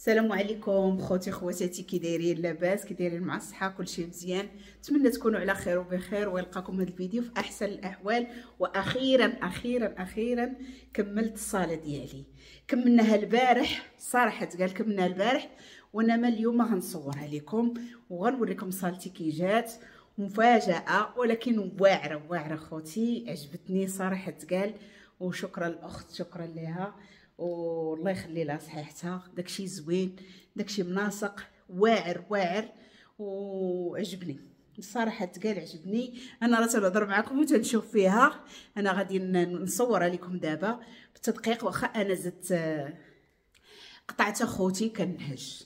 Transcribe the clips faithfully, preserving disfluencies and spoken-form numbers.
السلام عليكم خوتي خواتاتي، كي دايرين؟ لاباس؟ كي دايرين مع الصحة؟ كلشي مزيان؟ نتمنى تكونوا على خير وبخير ويلقاكم هذا الفيديو في احسن الاحوال. واخيرا اخيرا اخيرا كملت الصاله ديالي، كملناها البارح صراحة، تقال كملناها البارح، وانا ما اليوم غنصورها لكم وغنوريكم صالتي كي جات. مفاجاة ولكن واعرة واعرة خوتي، عجبتني صراحة تقال. وشكرا الاخت، شكرا لها والله يخلي لها صحيحتها. داكشي زوين، داكشي مناسق، واعر واعر وعجبني الصراحة تقال، عجبني. انا راه تنهضر معكم وتنشوف فيها، انا غادي نصورها لكم دابا بالتدقيق. واخا انا زدت قطعت اخوتي كنهج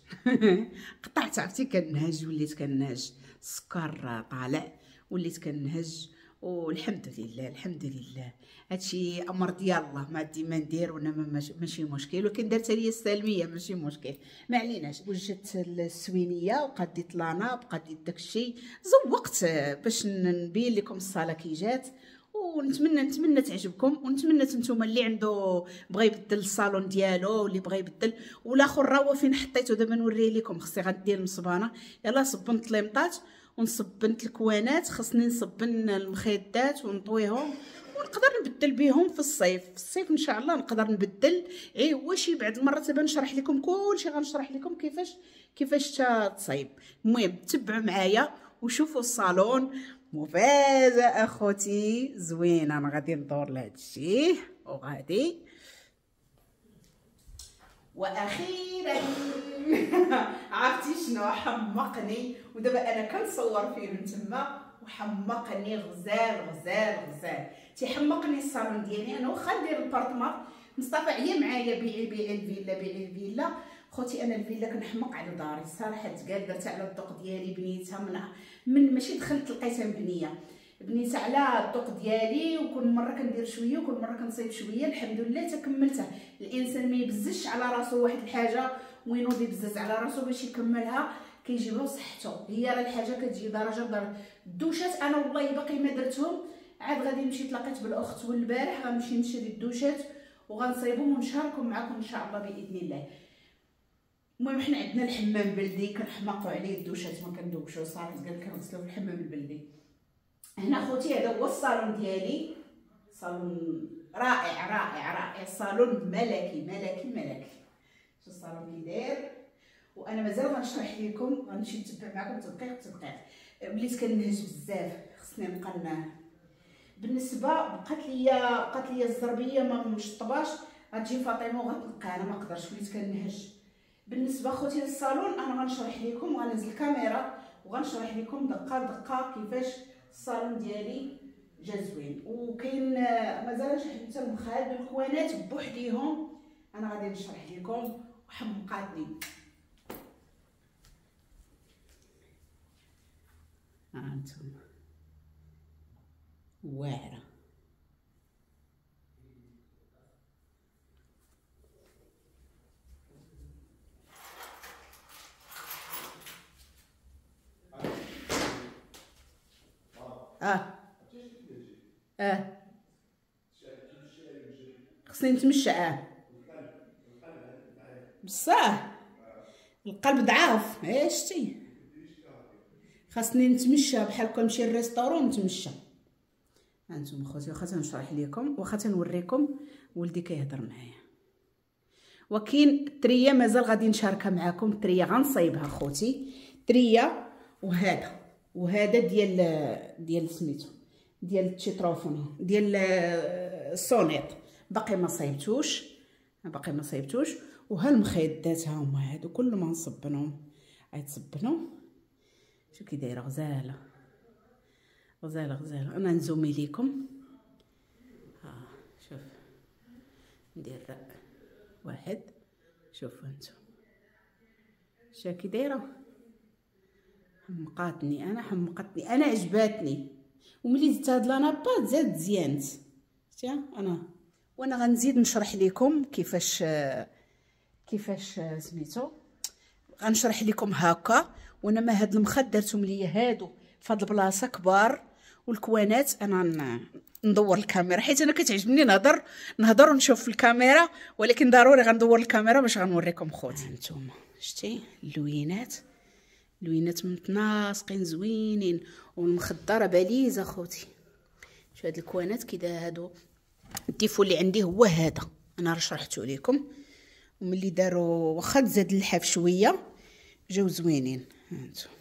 قطعت عرفتي كنهج، وليت كنهج، السكر طالع وليت كنهج، والحمد لله الحمد لله. هادشي امر ديال الله، ما عندي ما ندير وانا ماشي مشكل، ولكن درت ليا السالمية ماشي مشكل، ما عليناش. وجدت السوينيه وقديت la nappe قديت داكشي، زوقت باش نبين لكم الصاله كي جات. ونتمنى نتمنى تعجبكم، ونتمنى نتوما اللي عنده بغى يبدل الصالون ديالو، اللي بغى يبدل والاخر راه هو فين حطيته دابا نوريه لكم. خصني غندير المصبانه، يلا صبنت ليمطات ونصبنت الكوانات، خصني نصبن المخيدات ونطويهم ونقدر نبدل بهم في الصيف. في الصيف ان شاء الله نقدر نبدل. اي واش بعد المرة دابا نشرح لكم كلشي، غنشرح لكم كيفاش كيفاش تصايب. المهم تبعوا معايا وشوفوا الصالون. مفاجاة اخوتي زوينة، انا غادي ندور لهذا الشيء وغادي. واخيرا عرفتي شنو حمقني؟ ودابا انا كنصور فيه من تما وحمقني، غزال غزال غزال، تيحمقني الصالون ديالي. انا واخا ندير l'appartement، مصطفى عيا معايا بيعي بيعي الفيلا بيعي الفيلا. خوتي انا الفيلا كنحمق على داري الصراحة تقال، درتها على الذوق ديالي، بنيتها من من ماشي دخلت لقيتها مبنية، بنيتها على الذوق ديالي، وكل مرة كندير شوية وكل مرة كنصايب شوية، الحمد لله تكملتها. الانسان ما يبزش على راسو واحد الحاجة وينوض يبزز على راسو باش يكملها، كيجيبها صحته هي. راه الحاجة كتجي درجه بدرجة. الدوشات انا والله باقي ما درتهم، عاد غادي نمشي تلاقيت بالاخت والبارح غنمشي نشري الدوشات وغنصايبهم ونشاركهم معكم ان شاء الله باذن الله. المهم حنا عندنا الحمام بلدي كنحماقوا عليه، الدوشات ما كندوشو صراحة، قال كنغسلو في الحمام البلدي. هنا خوتي هذا هو الصالون ديالي، صالون رائع رائع رائع، صالون ملكي ملكي ملكي. شوف الصالون كي داير، وانا مازال غنشرح لكم، غنمشي نتبع معكم تدقيق تدقيق. وليت كنهج بزاف، خصني نبقى. بالنسبة بقات ليا بقات ليا الزربيه ما مشطباش، غتجي فاطمة وغتلقى انا ما نقدرش، وليت كنهج. بالنسبة خوتي للصالون انا غنشرح لكم، غنزل الكاميرا وغنشرح لكم دقه بدقة كيفاش الصالون ديالي جا زوين. وكاين مازال حتى المخاد والكوانات بوحديهم، انا غادي نشرح لكم وحمقاتني. ها انتم واعرة. اه اه خصني نتمشى. اه بصح القلب ضعاف، ايه شتي، خاصني نتمشى بحال كون نمشي لل restaurant نتمشى. هانتوما خوتي واخا تنشرح لكم واخا تنوريكم، ولدي كيهضر معايا. وكاين التريه مازال غادي نشاركها معاكم، التريه غنصايبها خوتي، تريه. وهذا وهذا ديال ديال سميتو ديال التشيتروفون ديال الصونيط، باقي ما صايبتوش باقي ما صايبتوش. وها المخيدات ها هما هادو كل ما نصبنهم غيتصبنوا. شوف كي دايرة غزاله غزاله غزاله. انا نزومي ليكم، ها شوف ندير واحد، شوفوا انتم شا كي دايرة، حمقاتني انا حمقتني انا، عجباتني. وملي زدت هاد la nappe زاد زيانت شتي. انا وانا غنزيد نشرح لكم كيفاش كيفاش سميتو، غنشرح لكم هكا. وانا ما هاد المخد درتهم ليا هادو فهاد البلاصة كبار، والكوانات انا ندور الكاميرا حيت انا كتعجبني نهضر نهضر ونشوف في الكاميرا، ولكن ضروري غندور الكاميرا باش غنوريكم خوتي. هانتوما شتي اللوينات، اللوينات متناسقين زوينين، والمخدره باليزه خوتي. شو هاد الكوانات كي دا هادو ال défaut اللي عندي هو هذا، انا راه شرحته لكم. وملي داروا واخا تزاد اللحاف شوية جاو زوينين. هانتوما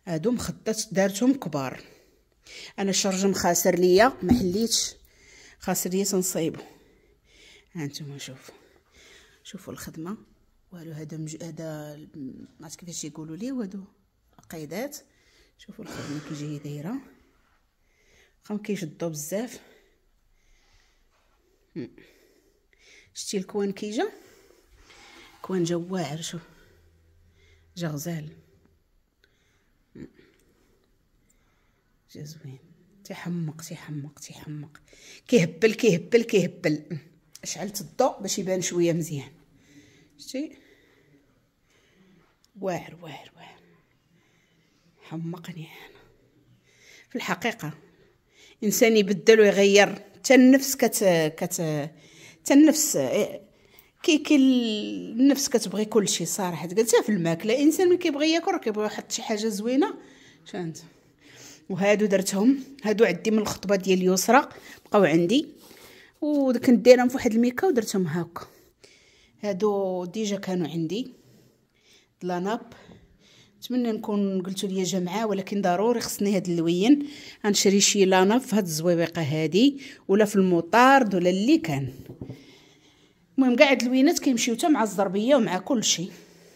هادو مخدات دارتهم كبار. انا الشرجم خاسر ليا ما حليتش، خاسر ليا تنصايبو. هانتوما شوفوا شوفوا الخدمة والو. هذا مج... هذا ما عرفت كيفاش يقولوا ليه، وهادو قيدات. شوفوا الخدمة كي جاية دايرة، واخا ما كيشدو بزاف. شتي ال coin كي جا، coin جا واعر، شوف جا غزال، جا زوين، تيحمق تيحمق تيحمق، كيهبل كيهبل كيهبل. شعلت الضوء باش يبان شوية مزيان. شتي واعر واعر واعر، حمقني انا في الحقيقة. انسان يبدل ويغير حتى النفس، كت كت حتى النفس كي كي النفس كتبغي كلشي صراحة. قلتها في الماكلة، انسان ملي كيبغي ياكل راه كيبغي يحط شي حاجة زوينة. شانت وهادو درتهم، هادو عندي من الخطبة ديال اليسرى بقاو عندي، وكنت دايرهم في واحد الميكا ودرتهم هكا. هادو déjà كانوا عندي la nappe. نتمنى نكون قلتوا لي جمعه، ولكن ضروري خصني هاد اللوين. غنشري شي la nappe في هاد الزويبيقه هادي، ولا في المطارد ولا اللي كان. المهم كاع هاد اللوينات كيمشيو حتى مع الزربيه ومع كل شيء.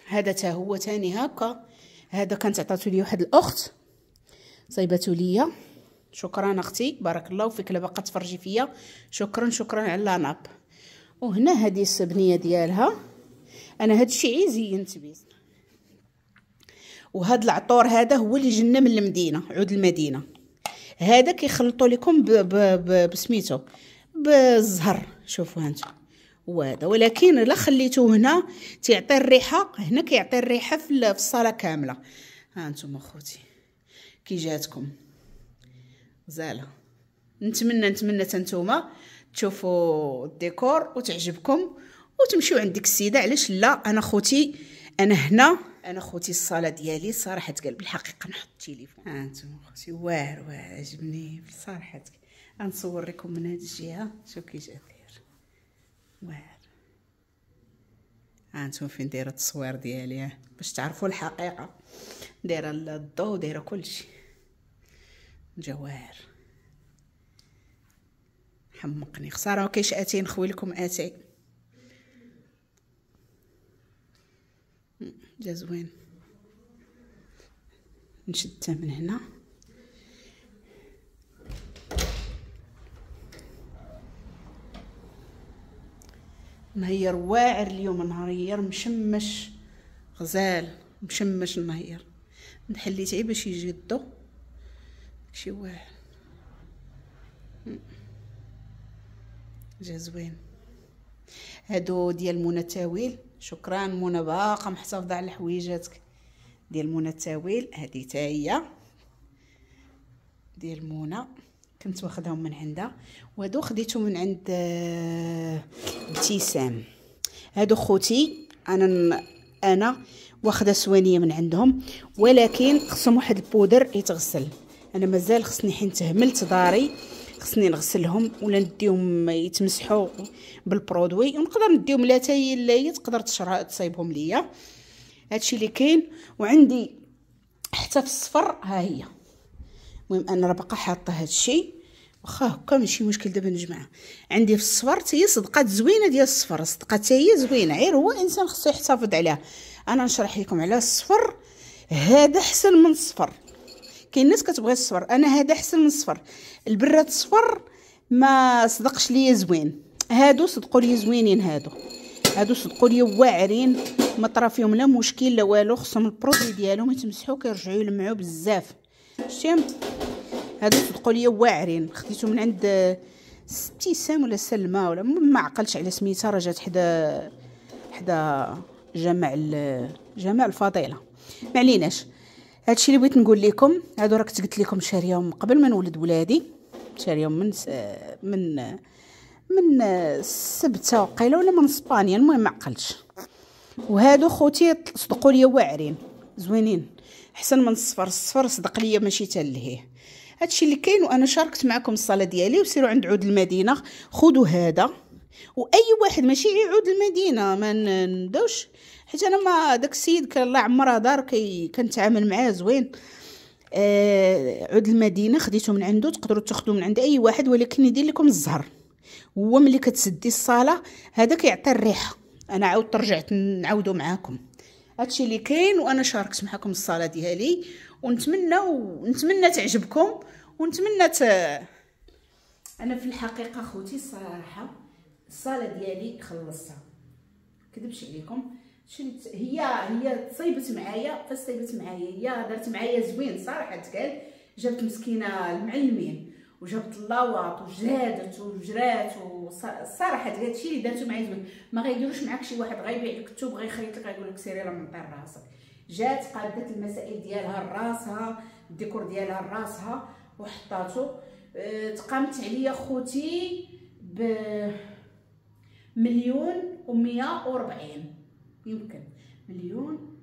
هذا تا هو تاني هكا، هذا كانت عطاتو لي واحد الاخت صايباتو ليا، شكرا اختي بارك الله فيك، لا باقا تفرجي فيا، شكرا شكرا على la nappe. وهنا هذه السبنيه ديالها، انا هاد الشيء زينت بيه. وهاد العطور هذا هو اللي جنا من المدينة، عود المدينة. هذا كيخلطوا لكم بسميتو بالزهر، شوفوا هانتو هو هذا. ولكن الا خليتوه هنا تيعطي الريحة، هنا كيعطي الريحة في الصاله كاملة. ها انتم اخوتي كي جاتكم غزاله. نتمنى نتمنى تنتوما تشوفوا الديكور وتعجبكم وتمشيو عند ديك السيدة. علاش لا؟ انا خوتي انا هنا، انا خوتي الصاله ديالي صراحة تقال بالحقيقة. نحط التليفون ها انتم خوتي، واعر واعر عجبني بصراحة. غنصور لكم من هاد الجهة، شوف كي جا داير واعر. ها انتم فين دايرة التصوير ديالي باش تعرفوا الحقيقة. دايرة الضو دايرة كلشي، جواهر حمقني. خسارة ما كاينش اتاي، نخوي لكم اتاي. جا زوين. نشدها من هنا. نهير واعر اليوم، نهير مشمش غزال، مشمش النهير. نحليت غير باش يجي الضو شي واعر، جا زوين. هادو ديال منى التاويل، شكرا منى باقا محتفظة على حويجاتك ديال منى التاويل. هادي حتى هي ديال منى، كنت واخداهم من عندها. وهادو خديتو من عند ابتسام. هادو خوتي انا انا واخده سوانيه من عندهم، ولكن خصهم واحد البودر يتغسل. انا مازال خصني حين تهملت داري خصني نغسلهم ولا نديهم يتمسحوا بال produit، ونقدر نديهم لا تاي لا تقدر تشرا تصايبهم ليا. هادشي اللي كاين. وعندي حتى في الصفر ها هي. المهم انا راه باقا حاطه هادشي واخا هكا ماشي مشكل. دابا نجمعها. عندي في الصفر حتى هي صدقات زوينة ديال الصفر، صدقات حتى هي زوينة، غير هو انسان خصو يحتفظ عليها. انا نشرح لكم على الصفر، هذا احسن من الصفر. كاين الناس كتبغي الصفر، انا هذا احسن من الصفر. البراد الصفر ما صدقش ليا زوين، هادو صدقوا لي زوينين. هادو هادو صدقوا لي واعرين، ما طرا فيهم لا مشكل لا والو. خصهم ال produit ديالهم يتمسحوا كيرجعوا يلمعوا بزاف. شتي هادو صدقوا لي واعرين. خديتو من عند ابتسام ولا سلمى ولا ما عقلتش على سميتها، راه جات حدا حدا جامع جامع الفضيلة. ما عليناش. هادشي اللي بغيت نقول لكم. هادو راه كنت قلت لكم شاريهم قبل ما نولد ولادي، شاريهم من من من السبته وقيله ولا من اسبانيا، المهم ما عقلتش. وهادو خوتي صدقوا لي واعرين زوينين، احسن من الصفر. الصفر صدق ليا ماشي تا لهيه. هادشي اللي كاين، وانا شاركت معكم الصاله ديالي. وسيروا عند عود المدينة خذوا هذا، واي واحد ماشي عود المدينة ما نبداوش، حيت انا ما داك السيد كان الله يعمرها دار كي كنتعامل معاه زوين. آه عود المدينة خديته من عنده، تقدروا تاخذوا من عند اي واحد، ولكن يدير لكم الزهر. هو ملي كتسدي الصاله هذا كيعطي الريحة. انا عاودت رجعت نعاودو معاكم هادشي اللي كاين، وانا شاركت معكم الصاله ديالي، ونتمنى ونتمنى تعجبكم، ونتمنى ت... انا في الحقيقة خوتي الصراحة الصاله ديالي خلصتها، كذبش عليكم. شريت هي هي تصيبت معايا، فاش صيبت معايا هي دارت معايا زوين صراحة تقال. جابت مسكينه المعلمين وجابت اللاواط وجادت وجرات، والصراحة تقال هادشي اللي دارتو معايا زوين. ما غيديروش معاك شي واحد غيبيع لك الثوب غيخيط لك غيقول لك سيري راه من طير راسك. جات قادت المسائل ديالها لراسها، الديكور ديالها لراسها وحطاتو. أه تقامت عليا خوتي ب مليون ومية وربعين، يمكن مليون.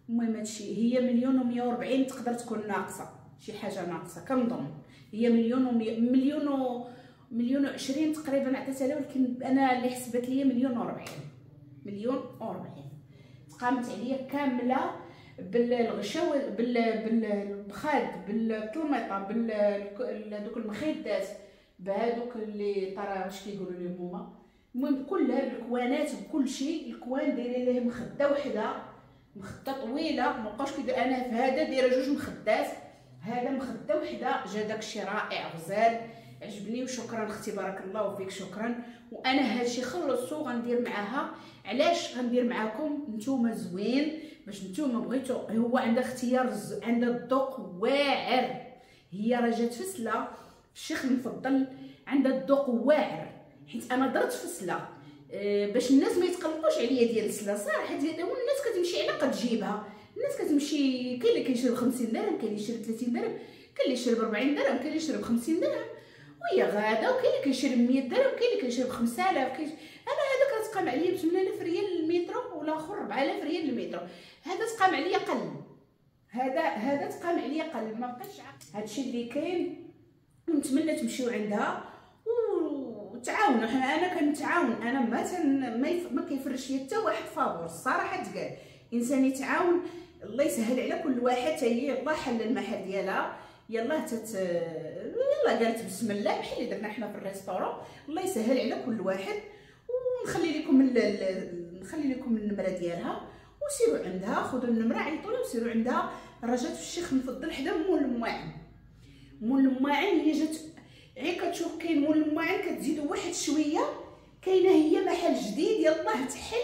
المهم هادشي هي مليون ومية وربعين، تقدر تكون ناقصه شي حاجة ناقصه كنظن. هي مليون ومية مليون و مليون وعشرين تقريبا عطيتها لها، ولكن انا اللي حسبت ليا مليون وربعين، مليون وربعين تقامت عليا كاملة بالغشاوه بالبخاد بالطلميطه بال دوك المخدات بهذوك اللي طرا واش كيقولوا لهم هما. المهم كلها بالكوانات بكل شيء. الكوان دايرين ليه مخده وحده، مخده طويلة ما بقاوش كيدير. انا في هذا دايرة جوج مخدات، هذا مخده وحده. جا داكشي رائع غزال عجبني، وشكرا اختي بارك الله فيك شكرا. وانا هادشي خلصتو غندير معاها. علاش غندير معاكم نتوما زوين باش نتوما بغيتو. هو عندها اختيار، عندها الذوق واعر. هي راه جات فسله الشيخ المفضل، عندها الذوق واعر. حيت انا درت فسله أه باش الناس ما يتقلقوش عليا ديال السلة صراحة. ديال الناس كتمشي على قد جيبها، الناس كتمشي كاين اللي كيشري ب خمسين درهم، كاين اللي يشري ب ثلاثين درهم، كاين اللي يشري ب أربعين درهم، كاين اللي يشري ب خمسين درهم، وهي غاده. وكاين اللي كيشري ب مية درهم، كاين اللي كيشري ب خمسة آلاف. كاين انا هذا كتقام عليا ب ثمانية آلاف ريال المتر، والاخر أربعة آلاف ريال المتر. هذا تقام عليا قل، هذا هذا تقام عليا قل، ما بقاش. هادشي اللي كاين، ونتمنى تمشيو عندها وتعاونوا. حنا انا كنتعاون، انا ما تن ما, يف... ما كيفرش ليا حتى واحد فابور الصراحة تقال. انسان يتعاون الله يسهل على كل واحد. حتى هي الله حل المحل ديالها، يلاه تت يلاه قالت بسم الله بحال اللي درنا حنا في ال restaurant. الله يسهل على كل واحد. ونخلي لكم ال... نخلي لكم النمرة ديالها وسيروا عندها، خذوا النمرة عيطوا لها وسيروا عندها. راه جات في الشيخ المفضل حدا مول المواعن. مول المواعن هي جات غير كتشوف كاين مول المواعن كتزيدوا واحد شوية، كاينه هي محل جديد يلاه تحل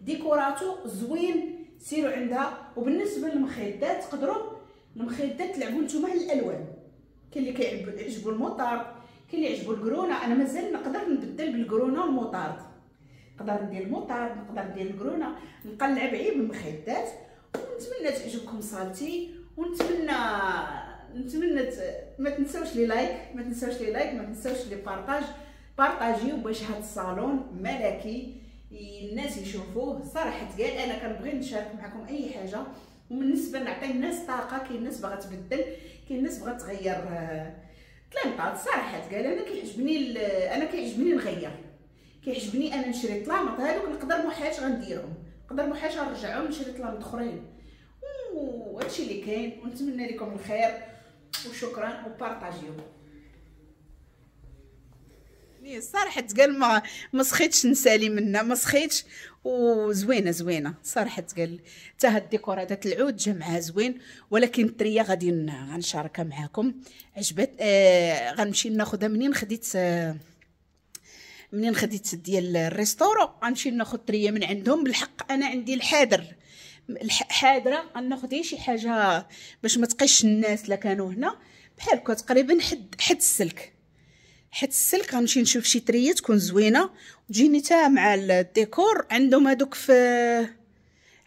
ديكوراتو زوين، سيروا عندها. وبالنسبة للمخدات تقدروا المخدات تلعبوا نتوما على الالوان. كاين اللي كيعجبو المطارد، كاين اللي يعجبو الكرونه. انا مازال نقدر نبدل بالكرونه والمطارد، نقدر ندير المطارد نقدر ندير الكرونه، نقلع بعيد بالمخدات. ونتمنى تعجبكم صالتي، ونتمنى نتمنى ما تنساوش les likes، ما تنساوش les likes، ما تنساوش les partages. بارطاجيو باش هاد الصالون ملكي الناس يشوفوه صراحة. قال انا كنبغي نشارك معكم اي حاجة. وبالنسبة نعطي الناس طاقة، كاين الناس باغا تبدل، كاين الناس باغا تغير طلامطات صراحة. قال انا كيعجبني انا كيعجبني نغير، كيعجبني انا نشري طلامط هادوك نقدر محاج غنديرهم، نقدر محاج غنرجعهم نشري طلامط اخرين. وهادشي اللي كاين، ونتمنى لكم الخير وشكرا وبارطاجيو. صراحة تقال ما ما سخيتش نسالي منها، ما سخيتش. وزوينه زوينة صراحة تقال. حتى هاد الديكور هذا العود جا معاه زوين، ولكن التريه غادي غنشاركها معاكم. عجبت آه غنمشي ناخذها منين خديت آه منين خديت ديال ال restaurant، غنمشي ناخذ تريه من عندهم. بالحق انا عندي الحاضر حاضره، غناخذ شي حاجة باش ما تقيش الناس لا كانوا هنا بحال هكا تقريبا حد حد السلك حد السلك. غنمشي نشوف شي تريه تكون زوينة وتجيني تا مع الديكور. عندهم هذوك في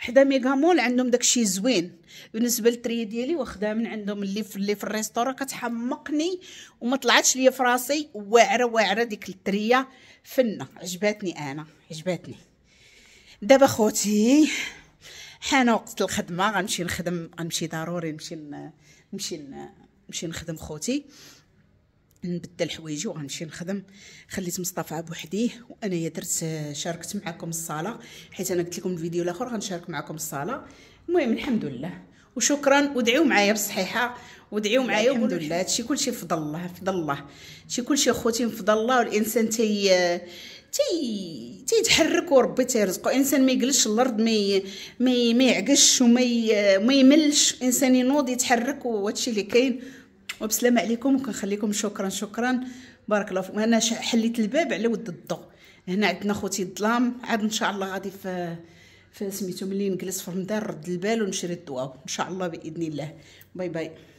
حدا ميغا مول، عندهم داكشي زوين. بالنسبة للتريه ديالي واخداها من عندهم اللي في اللي في ال restaurant، كتحمقني وما طلعتش ليا في راسي، واعرة واعرة ديك التريه فنه، عجباتني انا عجباتني. دابا خوتي حان وقت الخدمة، غنمشي نخدم، غنمشي ضروري نمشي نمشي نمشي نخدم خوتي، نبدل حوايجي وغنمشي نخدم. خليت مصطفى بوحديه وانايا درت شاركت معكم الصاله، حيت انا قلت لكم الفيديو الاخر غنشارك معكم الصاله. المهم الحمد لله وشكرا، ودعيو معايا بالصحيحه ودعيو معايا الحمد لله. هادشي كلشي بفضل الله، بفضل الله، هادشي كلشي خوتي بفضل الله. والانسان تي تي تيتحرك وربي تيرزقو، انسان ما يجلسش الارض، ما ما ما يعكش وما ما يملش، انسان ينوض يتحرك، وهادشي اللي كاين. وبسلامه عليكم وكنخليكم، شكرا شكرا بارك الله فيكم. انا حليت الباب على ود الضوء، هنا عندنا خوتي الظلام، عاد ان شاء الله غادي في في سميتو ملي نجلس في رمضان نرد البال ونشري الضوء ان شاء الله باذن الله. bye bye.